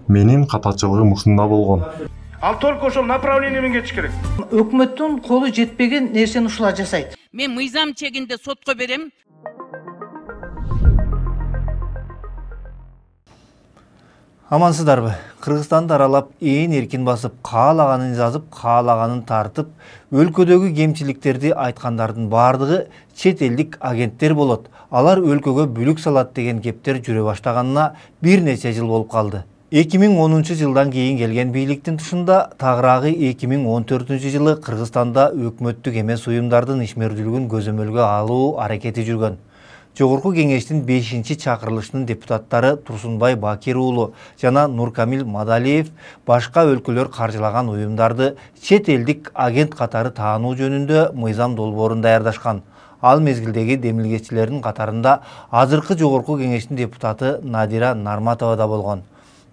Менин катачылыгым ушунда болгон. Ал только ошол направление менен кетиш керек. Өкмөттүн колу жетпеген нерсени ушулар жасайт. Мен мыйзам чегинде сотко берем. Амансыздарбы? Кыргызстанды аралап ээн эркин басып, каалаганын жазып, каалаганын тартып, өлкөдөгү кемчиликтерди айткандардын бардыгы чет элдик агенттер болот. Алар өлкөгө бүлүк салат деген кептер жүрө баштаганына бир нече жыл болуп калды. 2010 жылдан кийин келген бийликтин тушунда тагыраагы 2014 жылы Кыргызстанда өкмөттүк эмес уюмдардын ишмердүүлүгүн көзөмөлгө алуу аракети жүргөн. Жогорку кеңештин 5-чакырылышынын депутаттары Турсунбай Бакир уулу жана Нуркамил Мадалиев башка өлкөлөр каржылаган уюмдарды чет элдик агент катары таануу жөнүндө мыйзам долбоорун даярдашкан. Ал мезгилдеги демилгечилердин катарында азыркы жогорку кеңештин депутаты Надира Нарматова да болгон.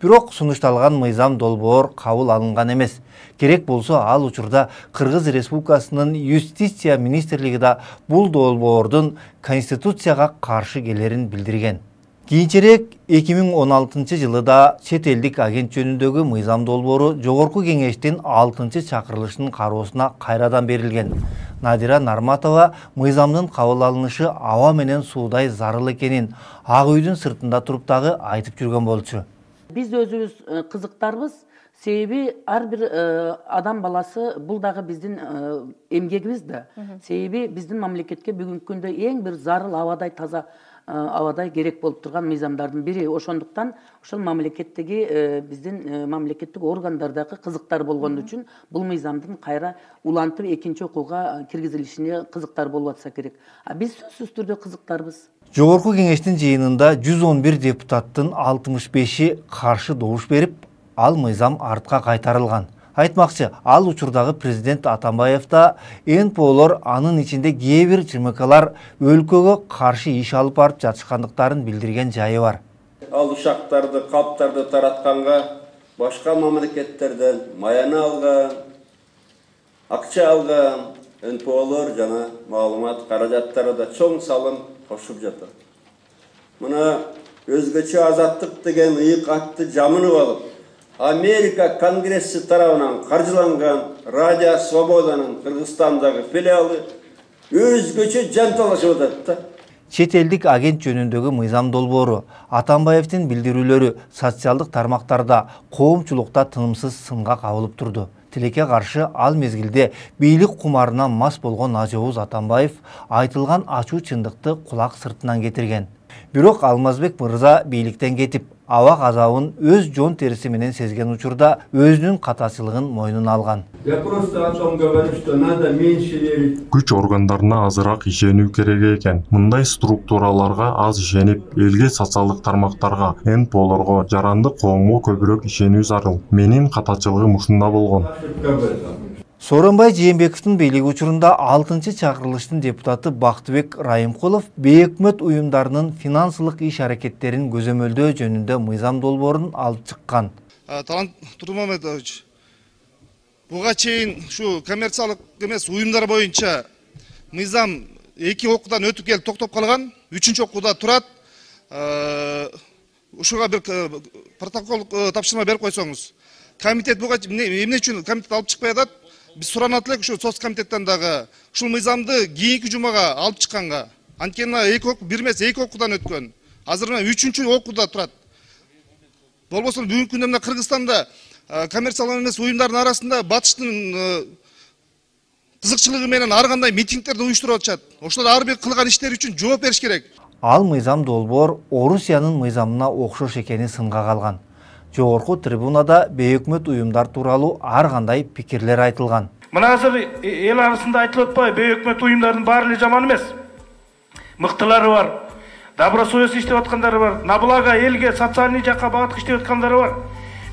Бирок сунушталган мыйзам долбоор кабыл алынган эмес. Керек болсо ал учурда Кыргыз Республикасынын Юстиция министрлиги да бул долбоордун Конституцияга каршы келерин билдирген. Кийинчерээк 2016 жылы да чет элдик агент жөнүндөгү мыйзам долбоору жогорку кеңештин 6-чакырылышынын кароосуна кайрадан берилген. Надира Нарматова мыйзамдын кабыл алынышы аба менен суудай зарыл экенин Ак үйдүн сыртында туруп дагы айтып жүргөн болчу. Биз өзүбүз кызыктарбыз. Себеби ар бир адам баласы бул дагы биздин эмгегибиз да. Себеби биздин мамлекетке бүгүнкү күндө эң бир зарыл абадай таза абадай керек болуп турган мыйзамдардын бири. Ошондуктан ошол мамлекеттеги биздин мамлекеттик органдардагы кызыктар болгон үчүн бул мыйзамдын кайра улантып экинчи окууга киргизилишине кызыктар болуп атса керек. Биз сөзсүз түрдө кызыктарбыз. Жогорку кеңештин жыйынында 111 депутаттын 65-и каршы добуш берип, ал мыйзам артка кайтарылган. Айтмакчы, ал учурдагы президент Атамбаев да НПОлор анын ичинде кээ бир ЖМКлар өлкөгө каршы иш алып барып жатышкандыктарын билдирген жайы бар. Ал ушактарды, калптарды таратканга башка мамлекеттерден маяны алган, акча алган НПОлор жана маалымат каражаттары да чоң салым кошуп жатат. Мына өзгөчө азаттык деген ыйык атты жамынып алып, Америка Конгресси тарабынан каржыланган Радио Свободанын Кыргызстандагы филиалы өзгөчө жанталашып атат да. Чет элдик агент жөнүндөгү мыйзам долбоору Атамбаевдин билдирүүлөрү социалдык тармактарда, коомчулукта тынымсыз сынга кабылып турду. Тилекке каршы ал мезгилде бийлик кумарына мас болгон Ажоуз Атамбаев айтылган ачуу чындыкты кулак сыртынан кетирген. Бирок Алмазбек мырза бийликтен кетип, аба азабын өз жон териси менен сезген учурда өзүнүн катачылыгын мойнуна алган. Күч органдарына азыраак ишенүү керек экен. Мындай структураларга аз ишенип, элге социалдык тармактарга, НПОлорго, жарандык коомго көбүрөөк ишенүү зарыл. Менин катачылыгым ушунда болгон. Сооронбай Жээнбековдун бийлиги учурунда 6-чакырылыштын депутаты Бактыбек Райымкулов бейөкмөт уюмдарынын финансылык иш аракеттерин көзөмөлдөө жөнүндө мыйзам долбоорун алып чыккан. Талант Турмамедович, буга чейин ушу коммерциялык эмес уюмдар боюнча мыйзам 2 окуудан өтүп келип токтоп калган, 3-чү окууда турат. Ушуга бир протокол тапшырма берип койсоңуз. Комитет буга эмне үчүн комитет алып чыкпай атат? Биз суранат элек ушу соц комитеттен дагы ушул мыйзамды кийинки жумага алып чыкканга. Анткени 2 окуу, бир эмес 2 окуудан өткөн. Азыр 3-чү окууда турат. Болбосо бүгүнкү күндө мына Кыргызстанда коммерциялык эмес уюмдардын арасында батыштын кызыкчылыгы менен ар кандай митингдерди уюштуруп атышат. Ошолор ар бир кылган иштери үчүн жооп бериш керек. Ал мыйзам долбоор Орусиянын мыйзамына окшош экени сынга калган. Жогорку трибунада бейөкмөт уюмдар тууралуу ар кандай пикирлер айтылган. Мына азыр эл арасында айтылып атпайбы, бейөкмөт уюмдардын баары эле жаман эмес. Мыктылары бар, добросовестный иштеп аткандары бар, на благо элге социальный жакка багыт иштеп аткандары бар.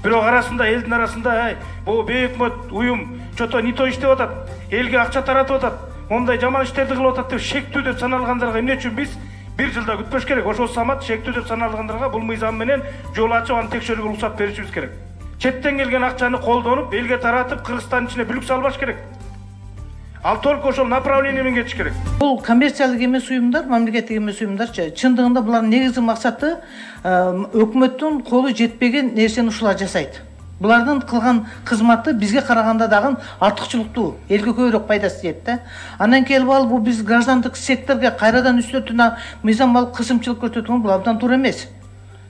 Бирок арасында элдин арасында бул бейөкмөт уюм чото не то иштеп атат, элге акча таратып атат, мондай жаман иштерди кылып атат деп шектүү деп саналгандарга эмне үчүн биз бир жылда күтпөш керек. Ошол самат шектүү деп саналгандарга бул мыйзам менен жол ачып аны текшерүүгө уруксат беришибиз керек. Четтен келген акчаны колдонуп, элге таратып, Кыргызстандын ичине бүлүк салбаш керек. Ал только ошол направление менен кетиш керек. Бул коммерциялык эмес уюмдар, мамлекеттик эмес уюмдарчы. Чындыгында булардын негизги максаты өкмөттүн колу жетпеген нерсени ушулар жасайт. Булардын кылган кызматы бизге караганда дагы артыкчылыктуу, элге көбүрөөк пайдасы тиет да. Андан келип алып бул биз граждандык секторго кайрадан үстөтүнө мыйзам алып кысымчылык көрсөткөн бул абдан туура эмес.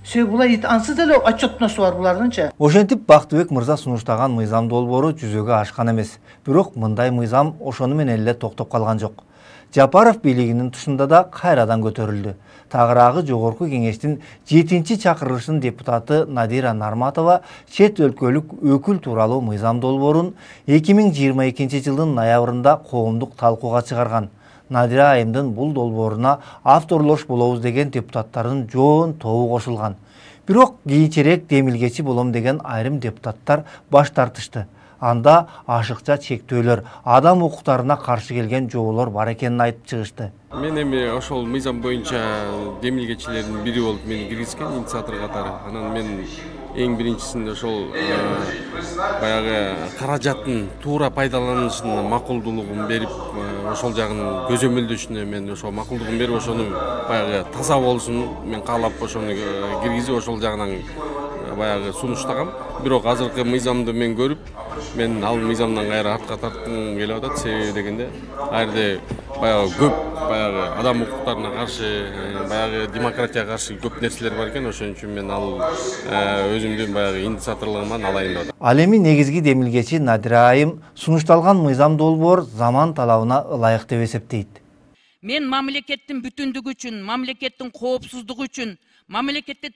Себеби булар ансыз деле отчетносу бар булардынчы. Ошентип Бактыбек мырза сунуштаган мыйзам долбоору жүзөгө ашкан эмес. Бирок мындай мыйзам ошону менен эле токтоп калган жок. Жапаров бийлигинин тушунда да кайрадан көтөрүлдү. Тагыраагы жогорку кеңештин 7-чакырылышынын депутаты Надира Нарматова чет өлкөлүк өкүл тууралуу мыйзам долбоорун 2022 жылдын ноябрында коомдук талкууга чыгарган. Надира айымдын бул долбооруна авторлош болобуз деген депутаттардын жоон тобу кошулган. Бирок кийинчерээк демилгечи болом деген айрым депутаттар баш тартышты. Анда ашыкча чектөөлөр, адам укуктарына каршы келген жоболор бар экенин айтып чыгышты. Мен эми ошол мыйзам боюнча демилгечилердин бири болуп мени киргизген инициатор катары. Анан мен эң биринчисинде ошол баягы каражаттын туура пайдаланылышына макулдуулугун берип, ошол жагын көзөмөлдөшүнө мен ошол макулдугун берип, ошону баягы таза болсун мен каалап ошону киргизип, ошол жагынан баягы сунуштагам. Бирок азыркы мыйзамды мен көрүп, мен ал мыйзамдан кайра артка тарткым келип атат. Себеби дегенде, айрда баягы көп баягы адам укуктарына каршы, баягы демократияга каршы көп нерселер бар экен. Ошон үчүн мен ал өзүмдүн баягы инициаторлугуман алайын деп атам. Ал эми негизги демилгечи Надира айым сунушталган мыйзам долбоор заман талабына ылайык деп эсептейт. Мен мамлекеттин бүтүндүгү үчүн, мамлекеттин коопсуздугу үчүн, мамлекетте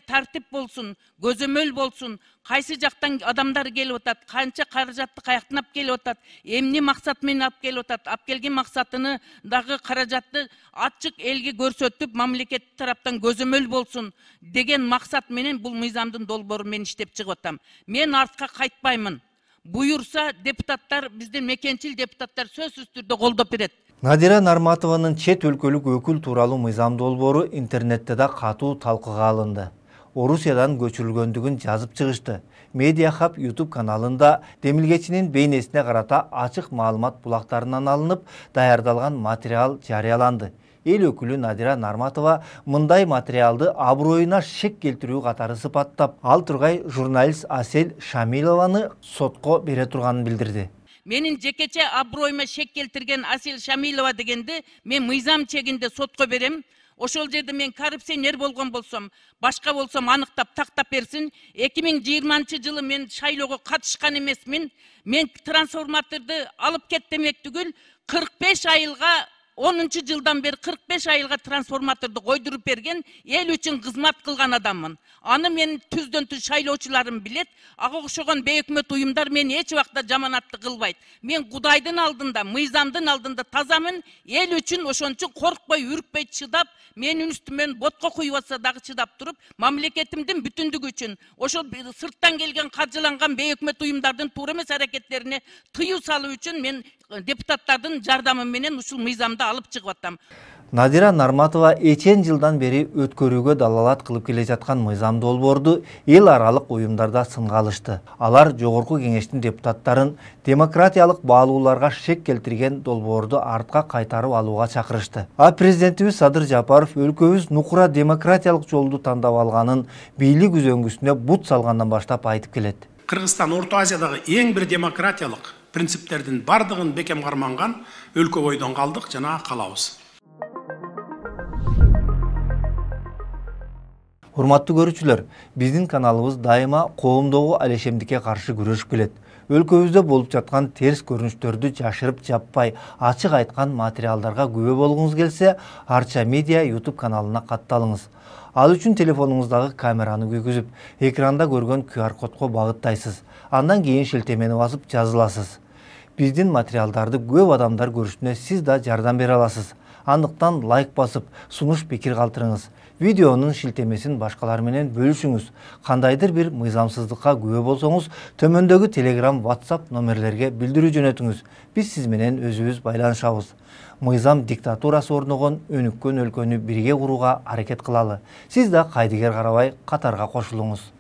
тартип болсун, көзөмөл болсун, кайсы жактан адамдар келип атат, канча каражатты каяктан алып келип атат, эмне максат менен алып келип атат, алып келген максатыны дагы каражатты ачык элге көрсөтүп, мамлекет тараптан көзөмөл болсун деген максат менен бул мыйзамдын долбоорун мен иштеп чыгып атам. Мен артка кайтпаймын. Буюрса депутаттар, биздин мекенчил депутаттар сөзсүз түрдө колдоп берет. Надира Нарматованын чет өлкөлүк өкүл тууралуу мыйзам долбоору интернетте да катуу талкууга алынды. Орусиядан көчүрүлгөндүгүн жазып чыгышты. Media Hub YouTube каналында демилгечинин бейнесине карата ачык маалымат булактарынан алынып, даярдалган материал жарыяланды. Эл өкүлү Надира Нарматова мындай материалды аброюна шек келтирүү катары сыпаттап, ал тургай журналист Асель Шамилованы сотко бере турганын билдирди. Менин жекече аброюма шек келтирген Асель Шамилова дегенди мен мыйзам чегинде сотко берем. Ошол жерде мен коррупционер болгон болсом, башка болсом аныктап тактап берсин. 2020 жылы мен шайлоого катышкан эмесмин. Мен трансформаторду алып кет демек түгүл 45 айылга 10 жылдан бeri 45 айылга трансформаторду койдуруп берген, эл үчүн кызмат кылган адаммын. Аны мен түздөн түз шайлоочуларым билет. Ага окшогон бейөкмөт уюмдар мени эч убакта жаманатты кылбайт. Мен Кудайдын алдында, мыйзамдын алдында тазамын. Эл үчүн ошон үчүн коркпой, үркпөй чыдап, менин үстүмөн ботко куюп атса дагы чыдап туруп, мамлекетимдин бүтүндүгү үчүн, ошол сырттан келген каржыланган бейөкмөт уюмдардын туура эмес аракеттерине тыюу салуу үчүн мен депутаттардын жардамы менен ушул мыйзамды алып чыгып атам. Надира Нарматова эчен жылдан бери өткөрүүгө далалат кылып келе жаткан мыйзам долбоорду эл аралык уюмдарда сынга алышты. Алар жогорку кеңештин депутаттарын демократиялык баалууларга шек келтирген долбоорду артка кайтарып алууга чакырышты. А президентибиз Садыр Жапаров өлкөбүз нукура демократиялык жолду тандап алганын бийлик үзөңгүсүнө бут салгандан баштап айтып келет. Кыргызстан Орто Азиядагы эң бир демократиялык принциптердин бардыгын бекем карманган өлкө бойдон калдык жана калабыз. Урматтуу көрүүчүлөр, биздин каналыбыз дайыма коомдогу алешемдикке каршы күрөшүп келет. Өлкөбүздө болуп жаткан терс көрүнүштөрдү жашырып жаппай, ачык айткан материалдарга күбө болгуңуз келсе, Арча Медиа YouTube каналына катталыңыз. Ал үчүн телефонуңуздагы камераны күйгүзүп, экранда көргөн QR кодго багыттайсыз. Андан кийин шилтемени басып жазыласыз. Биздин материалдарды көп адамдар көрүшүнө сиз да жардам бере аласыз. Андыктан лайк басып, сунуш пикир калтырыңыз. Видеонун шилтемесин башкалар менен бөлүшүңүз. Кандайдыр бир мыйзамсыздыкка күбө болсоңуз, төмөндөгү Telegram, WhatsApp номерлерге билдирүү жөнөтүңүз. Биз сиз менен өзүбүз байланышабыз. Мыйзам диктатурасы орногон өнүккөн өлкөнү бирге курууга аракет кылалы. Сиз да кайдыгер карабай катарга кошулуңуз.